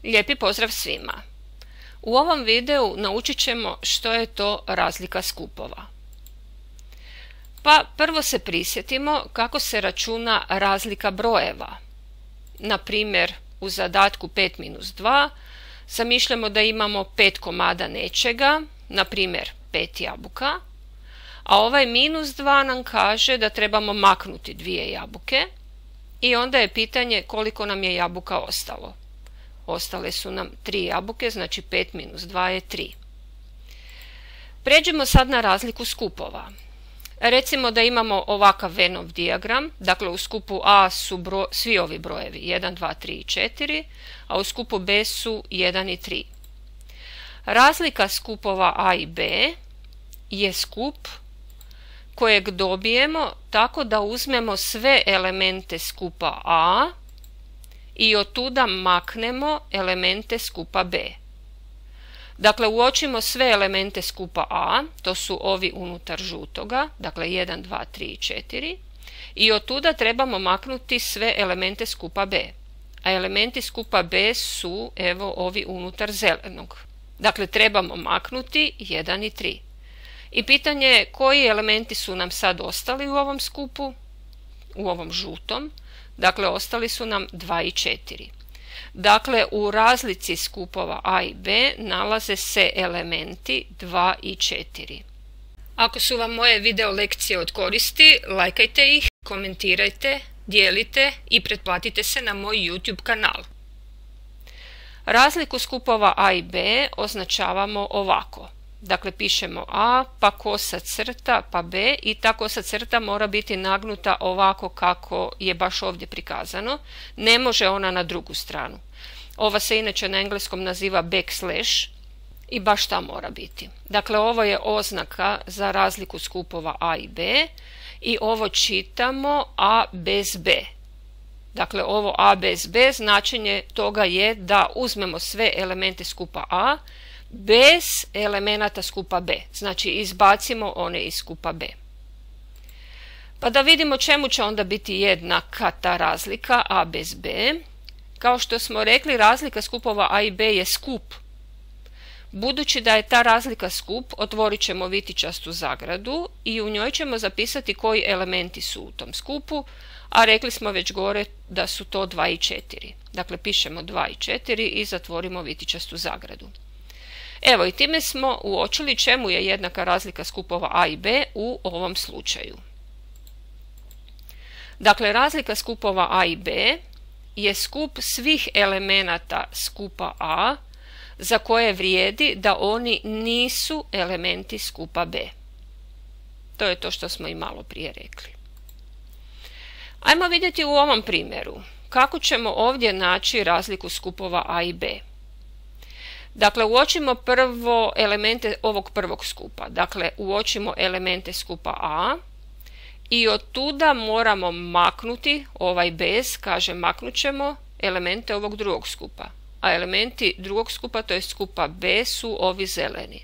Lijepi pozdrav svima! U ovom videu naučit ćemo što je to razlika skupova. Pa prvo se prisjetimo kako se računa razlika brojeva. Na primjer, u zadatku 5-2 zamišljamo da imamo 5 komada nečega, na primjer 5 jabuka, a ovaj -2 nam kaže da trebamo maknuti 2 jabuke i onda je pitanje koliko nam je jabuka ostalo. Ostale su nam 3 jabuke, znači 5 - 2 je 3. Pređemo sad na razliku skupova. Recimo da imamo ovakav Venn dijagram, dakle u skupu A su svi ovi brojevi 1, 2, 3 i 4, a u skupu B su 1 i 3. Razlika skupova A i B je skup kojeg dobijemo tako da uzmemo sve elemente skupa A i od tuda maknemo elemente skupa B. Dakle, uočimo sve elemente skupa A, to su ovi unutar žutoga, dakle 1, 2, 3 i 4, i od tuda trebamo maknuti sve elemente skupa B. A elementi skupa B su, evo, ovi unutar zelenog. Dakle, trebamo maknuti 1 i 3. I pitanje je koji elementi su nam sad ostali u ovom skupu, u ovom žutom. Dakle, ostali su nam 2 i 4. Dakle, u razlici skupova A i B nalaze se elementi 2 i 4. Ako su vam moje video lekcije od koristi, lajkajte ih, komentirajte, dijelite i pretplatite se na moj YouTube kanal. Razliku skupova A i B označavamo ovako. Dakle, pišemo A, pa kosa crta, pa B i ta kosa crta mora biti nagnuta ovako kako je baš ovdje prikazano. Ne može ona na drugu stranu. Ova se inače na engleskom naziva backslash i baš ta mora biti. Dakle, ovo je oznaka za razliku skupova A i B i ovo čitamo A bez B. Dakle, ovo A bez B značenje toga je da uzmemo sve elemente skupa A bez elemenata skupa B, znači izbacimo one iz skupa B. Pa da vidimo čemu će onda biti jednaka ta razlika A bez B. Kao što smo rekli, razlika skupova A i B je skup. Budući da je ta razlika skup, otvorit ćemo vitičastu zagradu i u njoj ćemo zapisati koji elementi su u tom skupu, a rekli smo već gore da su to 2 i 4. Dakle, pišemo 2 i 4 i zatvorimo vitičastu zagradu. Evo, i time smo uočili čemu je jednaka razlika skupova A i B u ovom slučaju. Dakle, razlika skupova A i B je skup svih elemenata skupa A za koje vrijedi da oni nisu elementi skupa B. To je to što smo i malo prije rekli. Ajmo vidjeti u ovom primjeru kako ćemo ovdje naći razliku skupova A i B. Dakle, uočimo prvo elemente ovog prvog skupa. Dakle, uočimo elemente skupa A i od tuda moramo maknuti ovaj bez, kaže maknut ćemo elemente ovog drugog skupa. A elementi drugog skupa, to je skupa B, su ovi zeleni.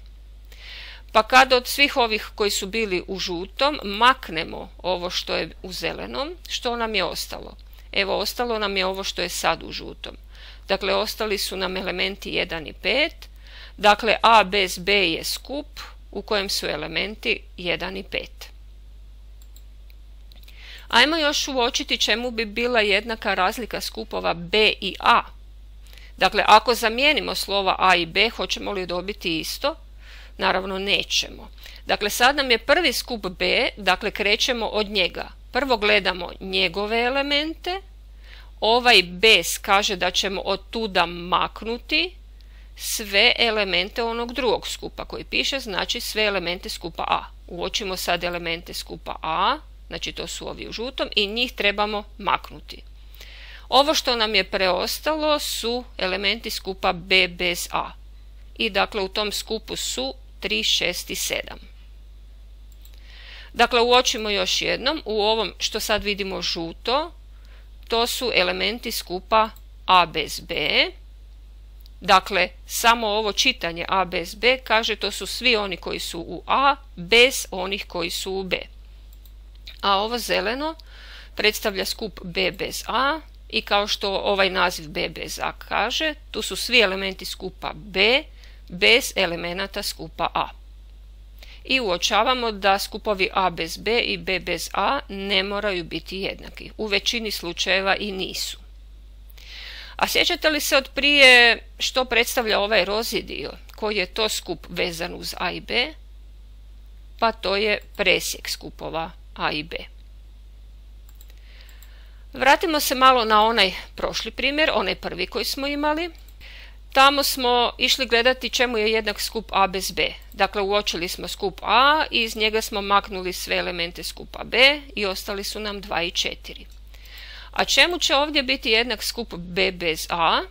Pa kad od svih ovih koji su bili u žutom maknemo ovo što je u zelenom, što nam je ostalo? Evo, ostalo nam je ovo što je sad u žutom. Dakle, ostali su nam elementi 1 i 5. Dakle, A bez B je skup u kojem su elementi 1 i 5. Ajmo još uočiti čemu bi bila jednaka razlika skupova B i A. Dakle, ako zamijenimo slova A i B, hoćemo li dobiti isto? Naravno, nećemo. Dakle, sad nam je prvi skup B, dakle, krećemo od njega. Prvo gledamo njegove elemente. Ovaj bez kaže da ćemo od tuda maknuti sve elemente onog drugog skupa koji piše, znači sve elemente skupa A. Uočimo sad elemente skupa A, znači to su ovi u žutom i njih trebamo maknuti. Ovo što nam je preostalo su elementi skupa B bez A. I dakle u tom skupu su 3, 6 i 7. Dakle, uočimo još jednom, u ovom što sad vidimo žuto, to su elementi skupa A bez B. Dakle, samo ovo čitanje A bez B kaže to su svi oni koji su u A bez onih koji su u B. A ovo zeleno predstavlja skup B bez A, i kao što ovaj naziv B bez A kaže, tu su svi elementi skupa B bez elemenata skupa A. I uočavamo da skupovi A bez B i B bez A ne moraju biti jednaki. U većini slučajeva i nisu. A sjećate li se od prije što predstavlja ovaj rozi dio? Koji je to skup vezan uz A i B? Pa to je presjek skupova A i B. Vratimo se malo na onaj prošli primjer, onaj prvi koji smo imali. Tamo smo išli gledati čemu je jednak skup A bez B. Dakle, uočili smo skup A i iz njega smo maknuli sve elemente skupa B i ostali su nam 2 i 4. A čemu će ovdje biti jednak skup B bez A?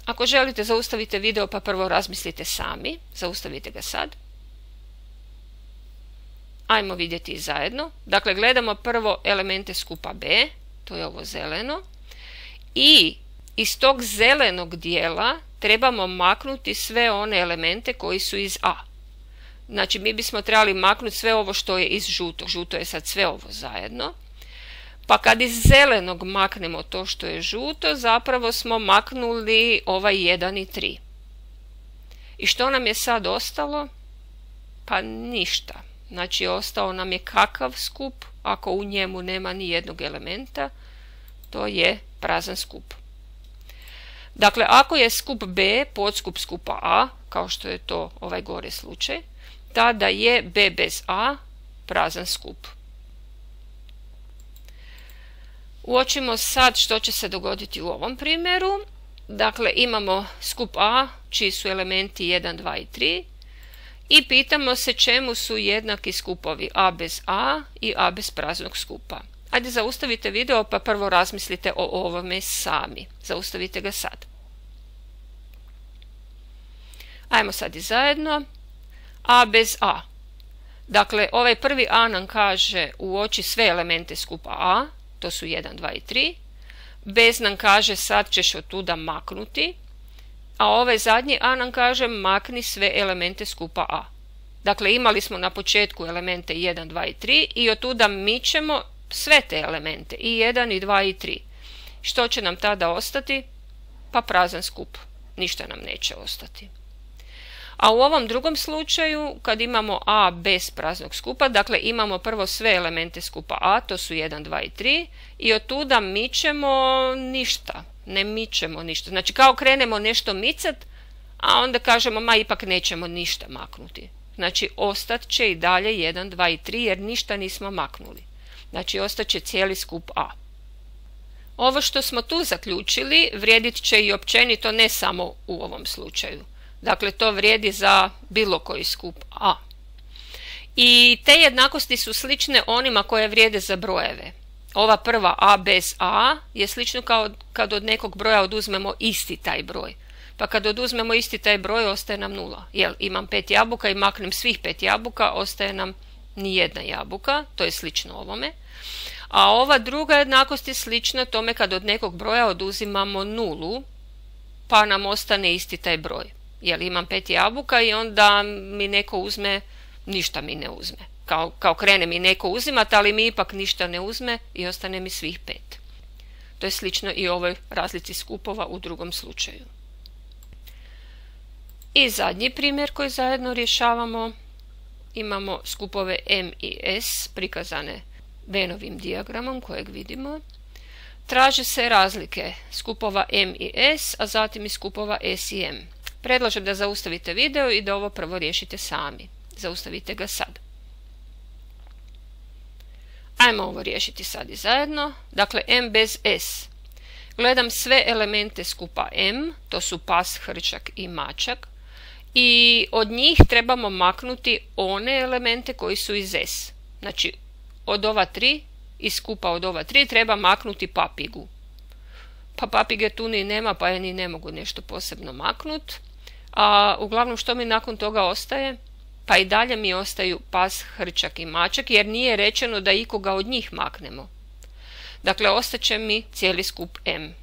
Ako želite, zaustavite video pa prvo razmislite sami. Zaustavite ga sad. Ajmo vidjeti zajedno. Dakle, gledamo prvo elemente skupa B, to je ovo zeleno. I iz tog zelenog dijela trebamo maknuti sve one elemente koji su iz A. Znači, mi bismo trebali maknuti sve ovo što je iz žutog. Žuto je sad sve ovo zajedno. Pa kad iz zelenog maknemo to što je žuto, zapravo smo maknuli ovaj 1 i 3. I što nam je sad ostalo? Pa ništa. Znači, ostao nam je kakav skup, ako u njemu nema ni jednog elementa, to je prazan skup. Dakle, ako je skup B podskup skupa A, kao što je to ovaj gore slučaj, tada je B bez A prazan skup. Uočimo sad što će se dogoditi u ovom primjeru. Dakle, imamo skup A, čiji su elementi 1, 2 i 3. I pitamo se čemu su jednaki skupovi A bez A i A bez praznog skupa. Ajde, zaustavite video pa prvo razmislite o ovome sami. Zaustavite ga sad. Ajmo sad i zajedno. A bez A. Dakle, ovaj prvi A nam kaže uoči sve elemente skupa A, to su 1, 2 i 3. Bez nam kaže sad ćeš od tuda maknuti. A ovaj zadnji A nam kaže makni sve elemente skupa A. Dakle, imali smo na početku elemente 1, 2 i 3 i od tuda mičemo sve te elemente, i 1, i 2, i 3. Što će nam tada ostati? Pa prazan skup. Ništa nam neće ostati. A u ovom drugom slučaju, kad imamo A bez praznog skupa, dakle imamo prvo sve elemente skupa A, to su 1, 2 i 3, i od tuda mičemo ništa. Ne mičemo ništa. Znači, kao krenemo nešto micat, a onda kažemo, ma ipak nećemo ništa maknuti. Znači, ostat će i dalje 1, 2 i 3, jer ništa nismo maknuli. Znači, ostaće cijeli skup A. Ovo što smo tu zaključili vrijedit će i općenito, ne samo u ovom slučaju. Dakle, to vrijedi za bilo koji skup A. I te jednakosti su slične onima koje vrijede za brojeve. Ova prva A bez A je slično kao kad od nekog broja oduzmemo isti taj broj. Pa kad oduzmemo isti taj broj, ostaje nam 0. Jel, imam 5 jabuka i maknem svih 5 jabuka, ostaje nam nijedna jabuka, to je slično ovome. A ova druga jednakost je slična tome kad od nekog broja oduzimamo 0, pa nam ostane isti taj broj. Jel, imam 5 jabuka i onda mi neko uzme, ništa mi ne uzme. Kao krene mi neko uzimati, ali mi ipak ništa ne uzme i ostane mi svih 5. To je slično i ovoj razlici skupova u drugom slučaju. I zadnji primjer koji zajedno rješavamo, imamo skupove M i S prikazane Vennovim dijagramom kojeg vidimo. Traže se razlike skupova M i S, a zatim i skupova S i M. Predlažem da zaustavite video i da ovo prvo riješite sami. Zaustavite ga sad. Ajmo ovo riješiti sad i zajedno. Dakle, M bez S. Gledam sve elemente skupa M, to su pas, hrčak i mačak. I od njih trebamo maknuti one elemente koji su iz S. Znači, od ova 3, iz skupa od ova 3 treba maknuti papigu. Pa papige tu ni nema, pa je ni ne mogu nešto posebno maknuti. A uglavnom što mi nakon toga ostaje? Pa i dalje mi ostaju pas, hrčak i mačak, jer nije rečeno da ikoga od njih maknemo. Dakle, ostaće mi cijeli skup M.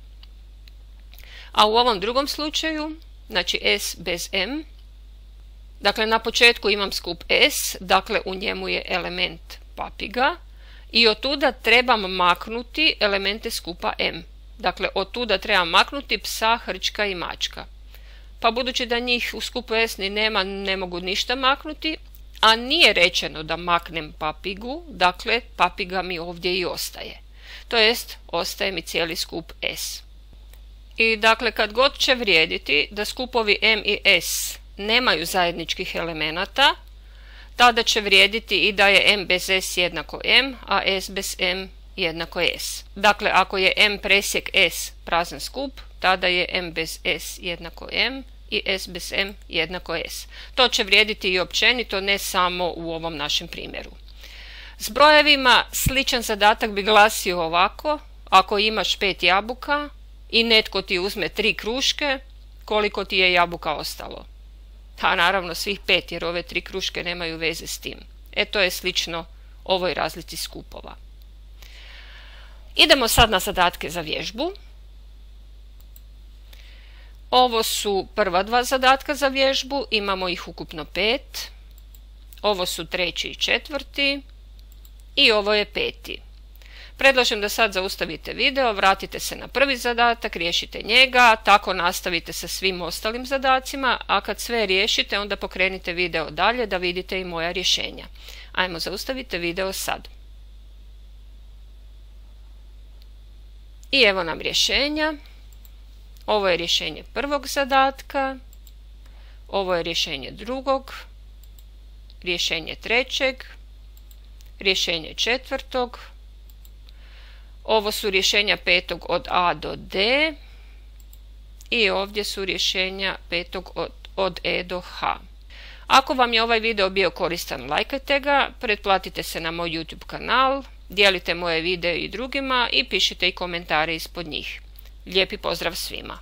A u ovom drugom slučaju, znači S bez M, dakle na početku imam skup S, dakle u njemu je element papiga i od tuda trebam maknuti elemente skupa M. Dakle, od tuda treba maknuti psa, hrčka i mačka. Pa budući da njih u skupu S ni nema, ne mogu ništa maknuti, a nije rečeno da maknem papigu, dakle papiga mi ovdje i ostaje. To jest, ostaje mi cijeli skup S. I dakle, kad god će vrijediti da skupovi M i S nemaju zajedničkih elemenata, tada će vrijediti i da je M bez S jednako M, a S bez M jednako S. Dakle, ako je M presjek S prazan skup, tada je M bez S jednako M i S bez M jednako S. To će vrijediti i općenito, ne samo u ovom našem primjeru. S brojevima sličan zadatak bi glasio ovako: ako imaš 5 jabuka i netko ti uzme 3 kruške, koliko ti je jabuka ostalo? A naravno svih 5, jer ove 3 kruške nemaju veze s tim. To je slično ovoj razlici skupova. Idemo sad na zadatke za vježbu. Ovo su prva 2 zadatka za vježbu, imamo ih ukupno 5. Ovo su 3. i 4. i ovo je 5. Predlažem da sad zaustavite video, vratite se na prvi zadatak, riješite njega, tako nastavite sa svim ostalim zadacima, a kad sve riješite, onda pokrenite video dalje da vidite i moja rješenja. Ajmo, zaustavite video sad. I evo nam rješenja. Ovo je rješenje prvog zadatka, ovo je rješenje drugog, rješenje trećeg, rješenje četvrtog, ovo su rješenja petog od A do D i ovdje su rješenja petog od E do H. Ako vam je ovaj video bio koristan, lajkajte ga, pretplatite se na moj YouTube kanal, dijelite moje videe i drugima i pišite i komentare ispod njih. Lijepi pozdrav svima!